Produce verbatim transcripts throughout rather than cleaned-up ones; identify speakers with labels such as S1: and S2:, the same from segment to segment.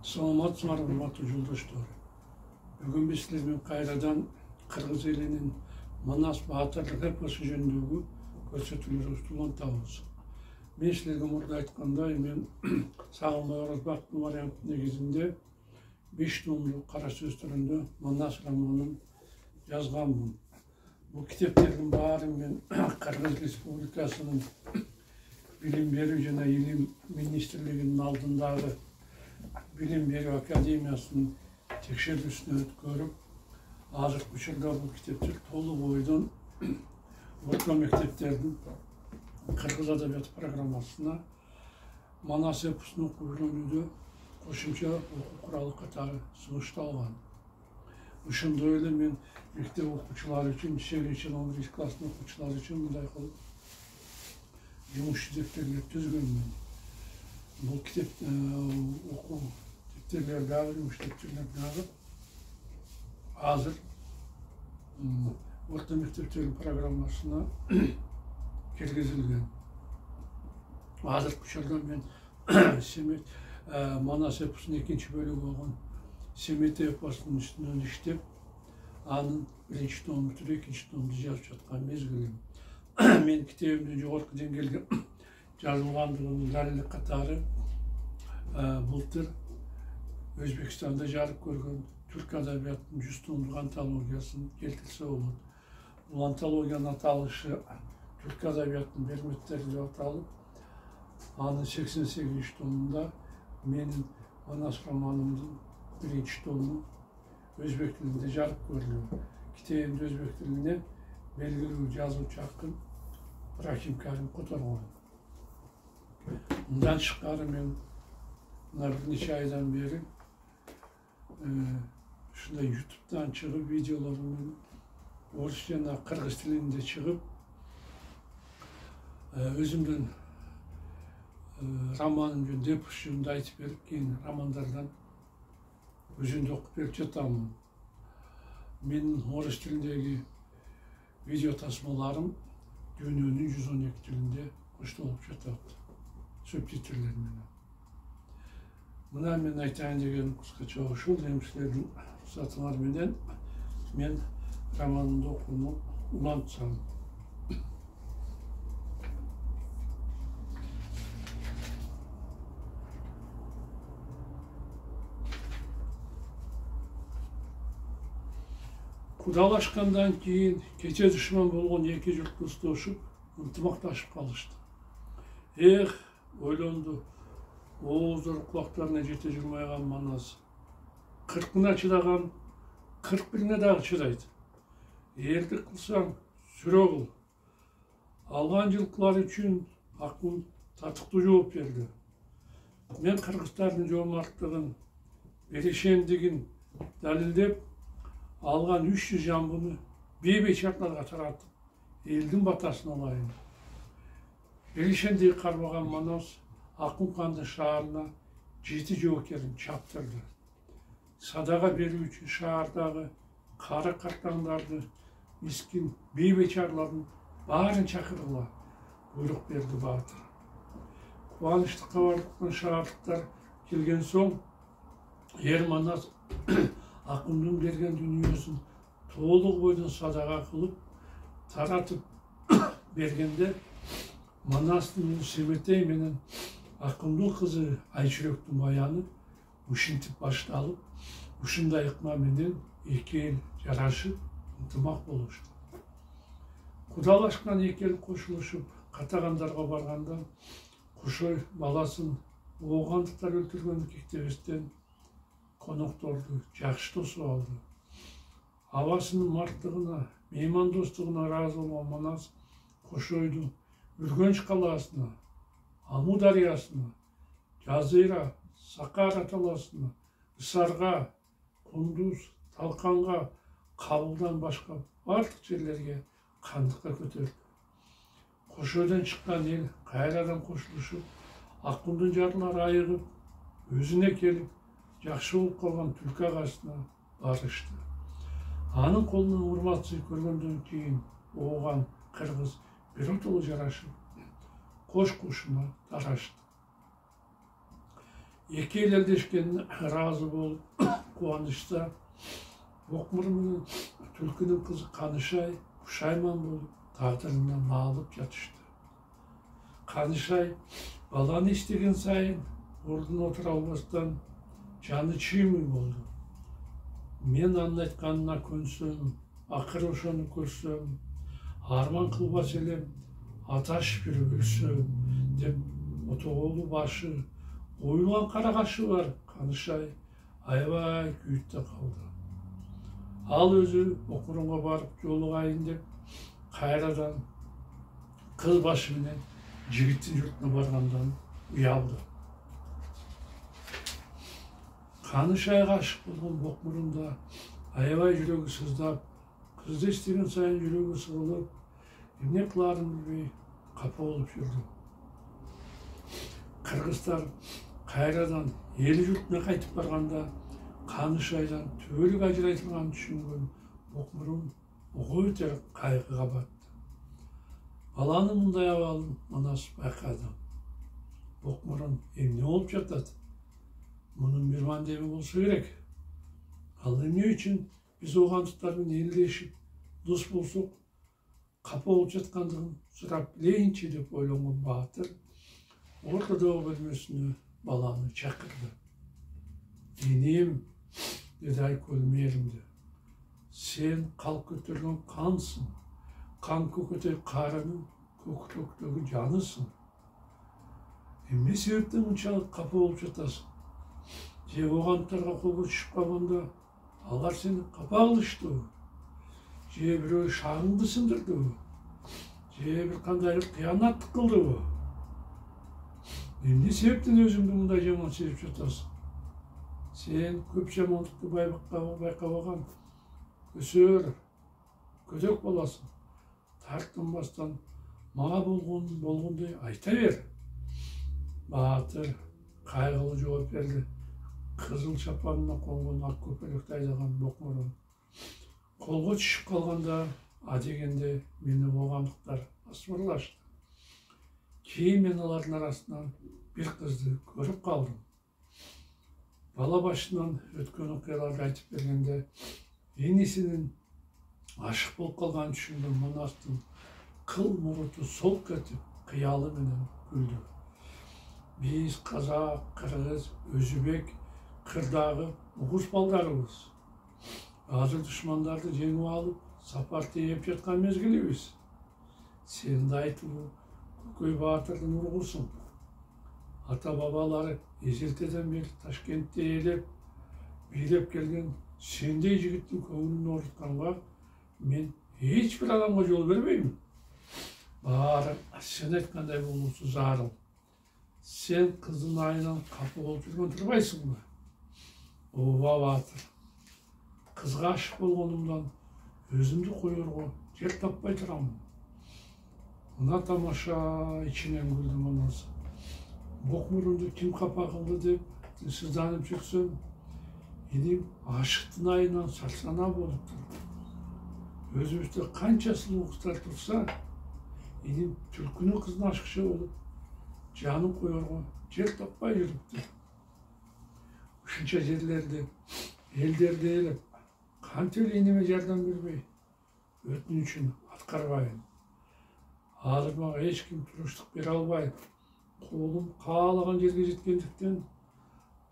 S1: Саламатсыңар, урматтуу жолдоштор. Бүгүн биз силер менен кайрадан кыргыз элинин Манас баатырлык эпосу жөнүндөгү көрсөтүүлөрүбүздү улантабыз. Мен силерге мурда айткандай, мен Сагынбай Оразбактын варианты негизинде беш томдук кара сөз түрүндө Манас романын жазганмын. Бул китептердин баарын мен Кыргыз Республикасынын билим берүү жана илим министрлигинин алдындагы Билим берүү академиясынын текшерүүсүнө өткөрүп, азыркы учурда бул китептер толук бойдон орто мектептердин кыргыз адабияты программасына Манас эпосун окуп үйрөнүүдө кошумча окуу куралы катары сунушталган. Ошондой эле мен мектеп окуучулары үчүн, сегизинчи жана он биринчи класстын окуучулары үчүн мындай кылып жумуш дептерлер түзгөнмүн. Бул китеп окуу дептерлер дагы жумуш дептерлер дагы азыр орто мектептердин программасына киргизилген. Азыркы учурда мен Семет Манас эпосунун экинчи бөлүгү болгон Семет эпосунун үстүнөн иштеп, анын биринчи томун бүтүрүп, экинчи томду жазып жаткан мезгилим. Мен китебимдин жогорку деңгээлде жазылгандыгынын далили катары былтыр Өзбекстанда жарык көргөн түрк адабиятынын жүз томдук антологиясын келтирсе болот. Бул антологиянын аталышы түрк адабиятынын берметтери деп аталып, анын сексен сегизинчи томунда менин Манас романымдын биринчи тому өзбек тилинде жарык көрүлгөн. Китебимди өзбек тилине белгилүү жазуучу акын Рахим Карим которгон. Мындан тышкары мен мына бир нече айдан бери ушундай ютубтан чыгып, видеолору менен орус жана кыргыз тилинде чыгып, өзүмдүн романым жөнүндө, эпос жөнүндө айтып берип, кийин романдардан өзүмдү окуп берип жатамын. Менин орус тилиндеги видео тасмаларым дүйнөнүн жүз он эки тилинде коштолуп жатат, субтитрлер менен. Мына мен айтайын деген кыскача ушул. Эми силердин уруксатыңар менен мен романымды окууну улантсам. Кудалашкандан кийин кече душман болгон эки журт достошуп, ынтымакташып калышты. Эх, ойлонду, ооздору кулактарына жете жүрмайган Манас. Кыркына чыдаган кырк бирине дагы чыдайт. Элдик кылсаң сүрө кыл. Алган жылкылар үчүн акын татыктуу жооп берди. Мен кыргыздардын жоомарттыгын, беришендигин далилдеп, алган үч жүз жамбыны бейбечарларга таратып, элдин батасын алайын. Беришендиги кармаган Манас Акын кандын шаарына жети жоокерин чаптырды. Садага берүү үчүн шаардагы кары картаңдарды, мискин бейбечарлардын баарын чакыргыла буйрук берди баатыр. Кубанычты кабар уккан шаардыктар келген соң, эр Манас акындын берген дүйнөсүн толук бойдон садага кылып таратып бергенде, Манастын Семетей менен акындын кызы Айчүрөктүн баяны ушинтип башталып, ушундай ыкма менен эки эл жарашып, ынтымак болушту. Кудалашкан эки эл кошулушуп катагандарга барганда, Кошой баласын оогандыктар өлтүргөнүн кектебестен конокторду жакшы тосуп алды. Абасынын марттыгына, меймандостугуна ыраазы болгон Манас Кошойду Үргөнч калаасына, Аму дарыясына, Жазыра, Сакара талаасына, Ысарга, Кундуз, Талканга, Кабылдан башка бардык жерлерге кандыкка көтөрдү. Кошойдон чыккан эл кайрадан кошулушуп, акындын жарлары айыгып, өзүнө келип, жакшы болуп калган Түлкү агасына барышты. Анын колунан урмат-сый көргөндөн кийин ооган кыргыз биротоло жарашып, кош кушуна тарашты. эки эл элдешкен ыраазы болуп кубанычта Бокмур менен түлкүнүн кызы Канышай пушайман болуп тагдырынан наалып жатышты. Канышай баланы иштеген сайын ордуна отура албастан жаны чыймый болду. Мен анын айтканына көнсөм, акыры ошону көрсөм, арман кылбас элем, аташ бир өлсөм деп отоголу башы, оюлган кара кашы бар Канышай аябай күйүп да калды. Ал өзү Бокмурунга барып жолугайын деп кайрадан кыз башы менен жигиттин журтуна баргандан уялды. Канышайга ашык болгон Бокмурун да аябай жүрөгү сыздап, кызды иштеген сайын жүрөгү сыгылып, эмне кылаарын билбей капа болуп жүрдү. Кыргыздар кайрадан эл журтуна кайтып барганда Канышайдан түбөлүк ажырайтылганын түшүнгөн Бокмурун ого өтө кайгыга батты. Баланын мындай абалын Манас байкады. Бокмурун эмне болуп жатат? Мунун бир мандеби болсо керек. Ал эмне үчүн биз оогандыктар менен элдешип, дос болсок, капа болуп жаткандыгын сурап билейинчи деп ойлонгон Баатыр ортодогу бөлмөсүнө баланы чакырды. Энем, деди Айкөл мээримдүү, сен калк көтөргөн кансың, кан көкөтөй каарынын көкүрөктөгү жанысың. Эмне себептен мынчалык капа болуп жатасың? Же оогандыктарга колго түшүп калганда алар сени капа кылыштыбы? Же бирөө шагыңды сындырдыбы? Же бир кандайдыр кыянаттык кылдыбы? Эмне себептен өзүңдү мындай жаман сезип жатасың? Сен көп жамандыкты байкабаган, өсөр, көдөк баласың. Тартынбастан мага болгон болгондой айта бер. Баатыр кайгылуу жооп берди. Кызыл чапанына конгон ак көпөлөктү айдаган Бокмурун колго түшүп калганда адегенде мени оогандыктар асмырлашты. Кийин мен алардын арасынан бир кызды көрүп калдым. Бала башынан өткөн окуяларды айтып бергенде энисинин ашык болуп калганын түшүнгөн Манастын кыл муруту солк этип, кыялы менен күлдү. Биз казак, кыргыз, өзбек, кырдагы угуз балдарыбыз. Азыр душмандарды жеңип алып, сапар тээп жаткан мезгилибиз. Сен да айтылуу Көкөй Баатырдын ургусуң. Ата бабалары эзелтеден бери Ташкентте ээлеп, бийлеп келген сендей жигиттин көңүлүн оорутканга мен эч бир адамга жол бербеймин. Баары сен айткандай болуусу зарыл. Сен кыздын айынан капа болуп жүргөн турбайсыңбы? Ооба Баатыр. Кызга ашык болгонумдан өзүмдү коерго жер таппай турамын. Мына тамаша, ичинен күлдү Манас. Бокмурунду ким капа кылды деп сызданып жүрсөм, энем ашыктын айынан сарсана болуп турду. Өзүбүздө канча сулуу кыздар турса, энем түлкүнүн кызына ашыкчы болуп, жанын коерго жер таппай жүрүптү. Ушунча жерлерди, элдерди ээлеп, кантип эле энеме жардам бербей, өтүнүчүн аткарбайын. Азыр мага эч ким туруштук бере албайт. Колум каалаган жерге жеткендиктен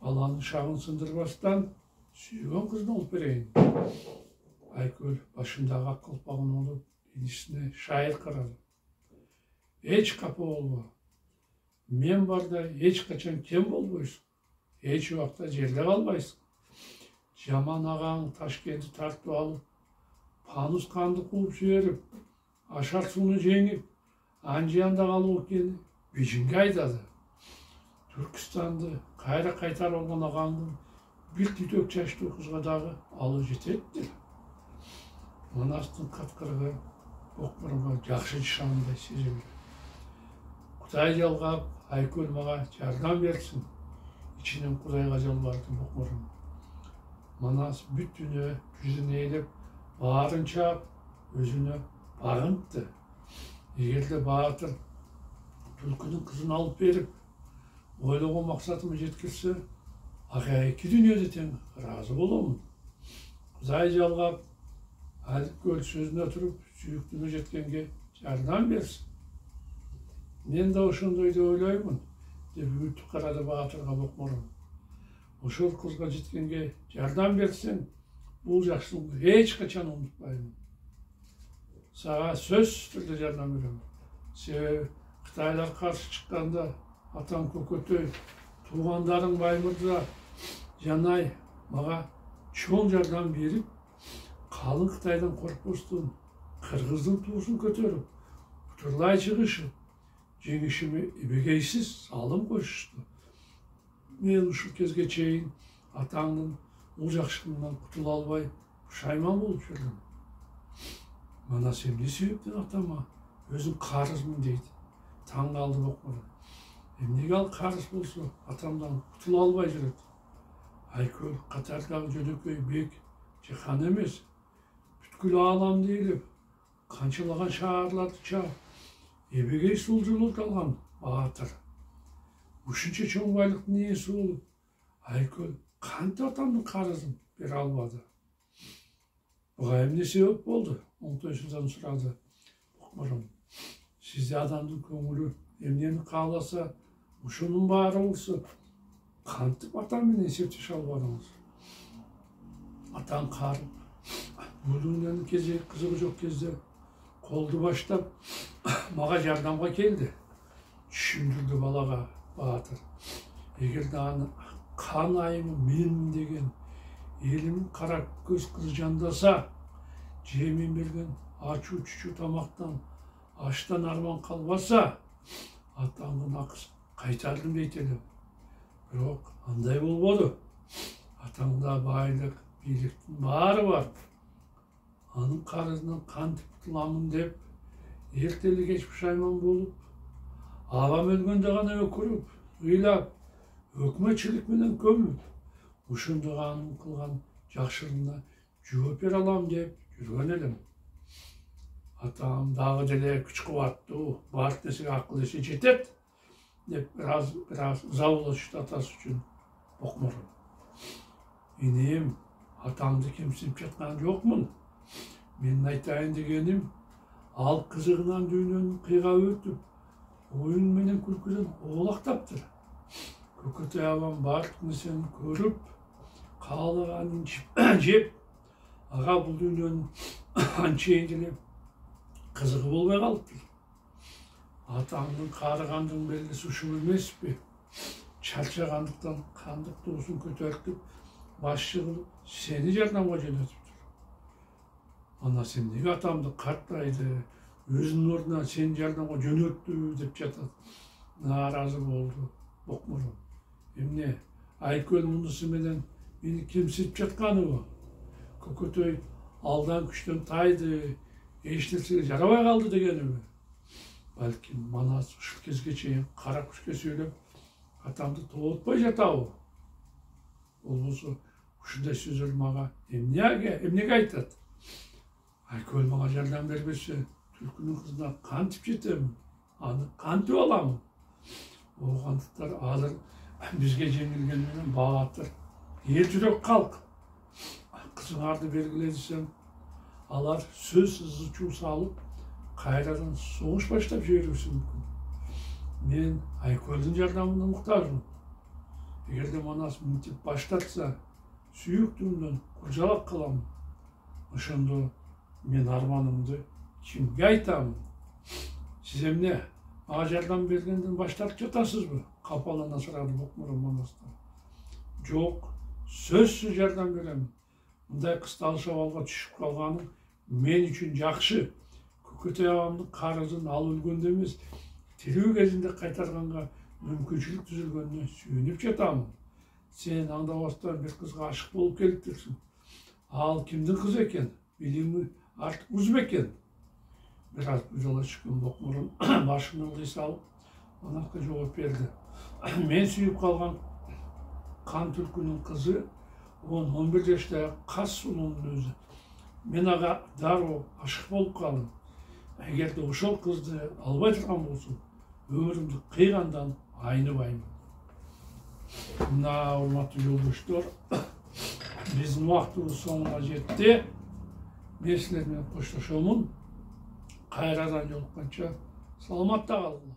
S1: баланын шагын сындырбастан сүйгөн кызын алып берейин. Айкөл башындагы ак калпагын алып энисине шайыр карады. Эч капа болбо. Мен барда эч качан кем болбойсуң. Эч убакта жерде калбайсың. Жаман агаң Ташкентти тартып алып, Панус канды кууп жиберип, Ашар сууну жеңип, Анжиянда калуу экени Бижинге айдады. Түркүстанды кайра кайтарып алган агаңдын бир түтөк чачтуу кызга дагы алып жететти. Манастын каткырыгы Бокмурунга жакшы жашагандай сезилди. Кудай жалгап, Айкөл мага жардам берсин. Ичинен Кудайга жалбарды Бокмурун. Манас бүт дүнү жүзүн ээлеп, баарын чаап, өзүнө багынтты. Эгерде Баатыр түлкүнүн кызын алып берип, ойлогон максатыма жеткирсе, акайки дүйнөдө тең ыраазы боломун. Кудай жалгап, Айкөл сөзүнө туруп, сүйүктүүгө жеткенге жардам берсин. Мен да ошондой деп ойлоймун, деп үтүп карады Баатырга Бокморун. Ошол кызга жеткенге жардам берсең, бул жакшылыгыңды эч качан унутпаймын. Сага сөзсүз түрдө жардам берем. Себеби Кытайлар каршы чыкканда атаң Көкөтөй, туугандарың Баймырза, Жанай мага чоң жардам берип, калың Кытайдан коркпостон кыргыздын туусун көтөрүп, утурлай чыгышып, жеңишиме эбегейсиз салым коюшту. Мен ушул кезге чейин атаңдын бул жакшылыгынан кутула албай, пушайман болуп жүрдүм. Манас эмне себептен атама өзүң карызмын дейт. Таң калды Бокморун. Эмнеге ал карыз болсо атамдан кутула албай жүрөт? Айкөл катардагы жөнөкөй бек же хан эмес. Бүткүл ааламды ээлеп, канчалаган шаарларды чаап, эбегей сулжулук алган Баатыр. Ушунча чоң байлыктын ээси болуп, Айкөл кантип атамдын карызын бере албады? Буга эмне себеп болду? Оңтойсуздан сурады Бокморун. Сизде адамдын көңүлү эмнени кааласа, ушунун баары болсо, кантип атам менен эсептеше албадыңыз? Атаң карып, бул дүйнөнүн кезеги кызыгы жок кезде колду баштап мага жардамга келди. Түшүндүрдү балага Баатыр. Эгерде аны кан айымы менмин деген элимин кара көз кызы жандаса, же мен берген ачуу чучуу тамактан, аштан арман калбаса, атаңдын акысын кайтардым дейт элем. Бирок андай болбоду. Атаңда байлык, бийликтин баары бар. Анын карызынан кантип кутуламын деп, эртели кеч пушайман болуп, абам өлгөндө гана өкүрүп, ыйлап, өкмөтчүлүк менен көмүп, ошондо анын кылган жакшылыгына жооп бере алам деп жүргөн элем. Атам дагы деле күч кубаттуу, баардык нерсеге акыл эси жетет деп бир аз бир аз ыза болушупту атасы үчүн Бокморун. Энем, атаңды кемсинип жаткан жокмун. Менин айтайын дегеним, ал кызыгынан дүйнөнүн кыйгап өтүп, оюн менен күлкүдөн оолактаптыр. Көкөтөй абам баардык нерсени көрүп, каалаганын жеп, ага бул дүйнөнүн анчейин деле кызыгы болбой калыптыр. Атаңдын каарыгандын белгиси ушул эмеспи? Чарчагандыктан кандык туусун көтөртүп, башчы кылып, сени жардамга жөнөтүптүр. Анас эмнеге атамды картайды, өзүнүн ордуна сени жардамга жөнөттү деп жатат. Нааразы болду Бокморун. Эмне, Айкөл мунусу менен мени кемсинип жатканыбы? Көкөтөй алдан күчтөн тайды, эч нерсеге жарабай калды дегениби? Балким Манас ушул кезге чейин кара күчкө сүйлөп, атамды тоотпой жатабы? Болбосо ушундай сөздөр мага эмнеге, эмнеге айтат? Айкөл мага жардам бербесе, түлкүнүн кызына кантип жетем? Аны кантип аламын? Оогандыктар азыр бизге жеңилген менен Баатыр эл жүрөк калк. Кызыңарды бергиле десем, алар сөз ызы чуу салып, кайрадан согуш баштап жибериши мүмкүн. Мен Айкөлдүн жардамына муктажмын. Эгерде Манас мынтип баштатса, сүйүктүүмдөн куржалак калам. Ошондо мен арманымды кимге айтамын? Сиз эмне, мага жардам бергенден баш тартып жатасызбы? Капалана сурады Бокморун Манастан. Жок, сөзсүз жардам берем. Мындай кысталыш абалга түшүп калганым мен үчүн жакшы. Көкөтөй абамдын карызын ал өлгөндө эмес, тирүү кезинде кайтарганга мүмкүнчүлүк түзүлгөнүнө сүйүнүп жатамын. Сен аңдабастан бир кызга ашык болуп келиптирсиң. Ал кимдин кызы экен? Билими артык уз бекен? Бир аз буйдала түшкөн Бокморун башын ылдый салып, Манаска жооп берди. Мен сүйүп калган кан түлкүнүн кызы он он бир жаштагы кас сулуунун өзү. Мен ага дароо ашык болуп калдым. Эгерде ошол кызды албай турган болсом, өмүрүмдү кыйгандан айныбаймын. Мына урматтуу жолдоштор, биздин убактыбыз соңуна жетти. Мен силер менен коштошомун. Кайрадан жолукканча саламатта калгыла.